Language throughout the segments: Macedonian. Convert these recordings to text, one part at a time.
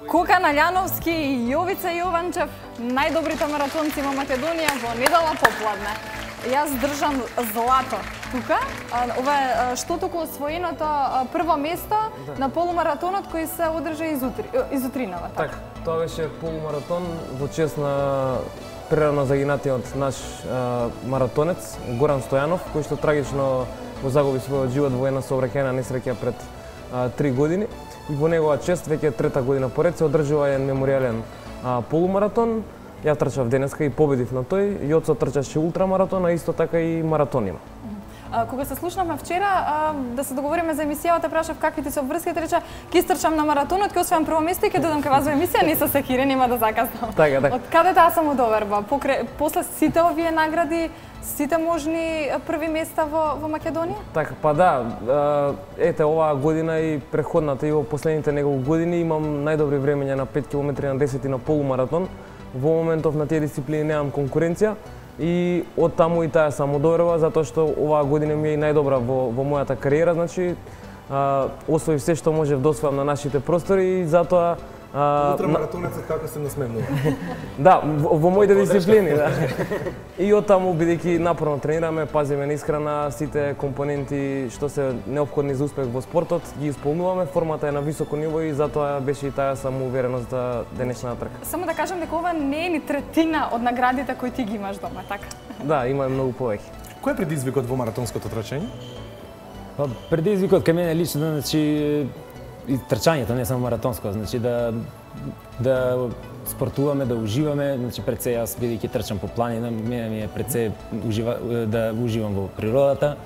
Кока Наљановски и Јовица Јованчев, најдобрите маратонци во Македонија во недела попладне. Јас држам злато тука. Ова е што туку освоеното прво место на полумаратонот кој се одржа изутринава. Така, тоа беше полумаратон во чест на прерано загинатиот наш маратонец Горан Стојанов, кој што трагично го загуби својот живот во една сообраќајна несреќа пред 3 години. И во негова чест веќе трета година поред се одржува еден меморијален полумаратон. Ја трчав денеска и победив на тој. Јоцо трчаше ултрамаратон, а исто така и маратон има. Кога се слушнавме вчера, да се договориме за емисијата, прашав какви ти се обврските, рече ќе истрчам на маратонот, ќе освојам прво место и ќе додам кај вас во емисија, не се секире, нема да закаснам. Така, така. Од каде таа самодоверба? После сите овие награди, сите можни први места во Македонија? Така, па да, ете оваа година и преходната и во последните неколку години имам најдобри времења на 5 км на 10 на полумаратон. Во моментов на тие дисциплини немам конкуренција и од таму и таа самодоверба, затоа што оваа година ми е најдобра во мојата кариера, значи освоив се што можев да освојам на нашите простори и затоа ултрамаратонецот како се насмевнува. Да, во моите дисциплини, да. И од таму бидејќи напорно тренираме, пазиме на исхрана, сите компоненти што се неопходни за успех во спортот ги исполнуваме, формата е на високо ниво и затоа беше и таа самоувереност за денешната трка. Само да кажам дека ова не е ни третина од наградите кои ти ги имаш дома, така? Да, има многу повеќе. Кој е предизвикот во маратонското трчање? Па предизвикот кај мене лично, значи и трчањето, не само маратонско, значи да спортуваме, да уживаме, значи пред се јас бидејќи трчам по планина, мене ми е пред се да уживам во природата.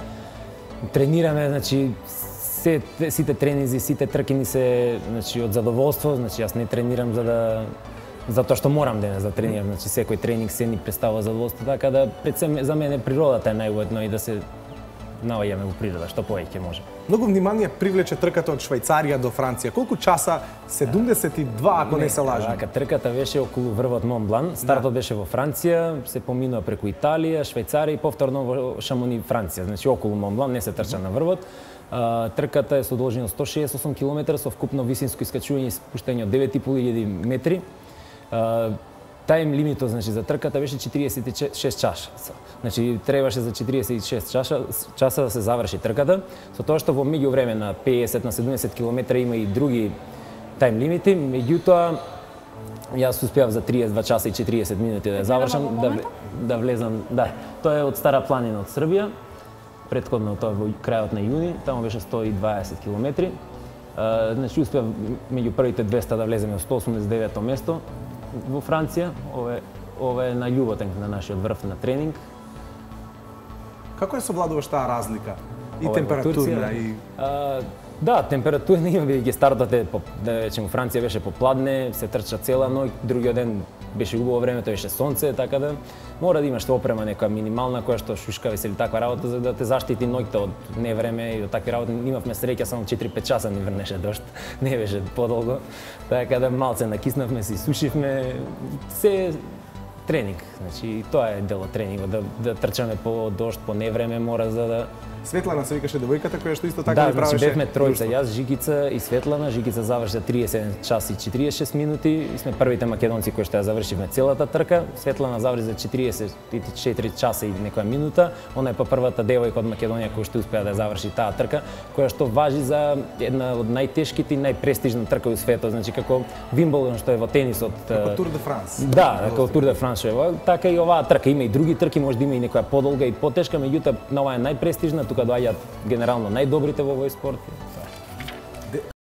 Тренираме, значи сите тренинзи, сите трки ни се, значи од задоволство, значи јас не тренирам затоа што морам денес да тренирам, значи секој тренинг се ни представува задоволство, така да пред се за мене природата е најуетно и да се наоѓаме во природа, што повеќе може. Многу внимание привлече трката од Швајцарија до Франција. Колку часа? 72, ако не се лажам. Така, трката беше околу врвот Монблан. Стартот беше во Франција, се поминува преку Италија, Швајцарија и повторно во Шамони, Франција. Значи околу Монблан, не се трча на врвот. Трката е со должина 168 км со вкупно висинско искачување и спуштање од 9500 метри. Тајм лимитот, значи, за трката беше 46 часа. Значи требаше за 46 часа да се заврши трката, со тоа што во меѓувреме на 50 на 70 км има и други тајм лимити, меѓутоа јас успеав за 32 часа и 40 минути да ја завршам, да влезам, да. Тоа е од Стара планина од Србија. Претходно тоа во крајот на јуни, таму беше 120 км. Значи успеав меѓу првите 200 да влеземе во 189-то место во Франција. Ова е на љуботен на нашиот врв на тренинг. Како ја совладуваш таа разлика? И температурна и да, температура не има, бидејќи стартот е, да речеме, Франција беше попладне, се трча цела ноќ, другиот ден беше убаво време, тоа беше сонце, така да мора да имаш опрема некоја минимална која што шушкаве се или таква работа за да те заштити ноќта од невреме и од такви работи. Имавме среќа, само 4-5 часа ни врнеше дожд, не беше подолго, така да малце накиснавме, се сушивме, се тренинг, значи тоа е дел од тренингот, да трчаме по дожд, по невреме, мора за да Светлана се викаше девојката која што исто така ви правеше. Да, значи бевме тројца, јас, Жигица и Светлана. Жигица заврши 37 часа и 46 минути и сме првите македонци кои што ја завршивме целата трка. Светлана заврши за 44 часа и некоја минута. Она е па првата девојка од Македонија која што успеа да заврши таа трка, која што важи за една од најтешките и најпрестижна трка во светот, значи како Вимблдон што е во тенисот. Како Тур де Франс. Да, како Тур де Франс што е. Така и оваа трка има и други трки, може да има и некоја подолга и потешка, меѓутоа на оваа е најпрестижна, тука доаѓаат генерално најдобрите во овој спорт.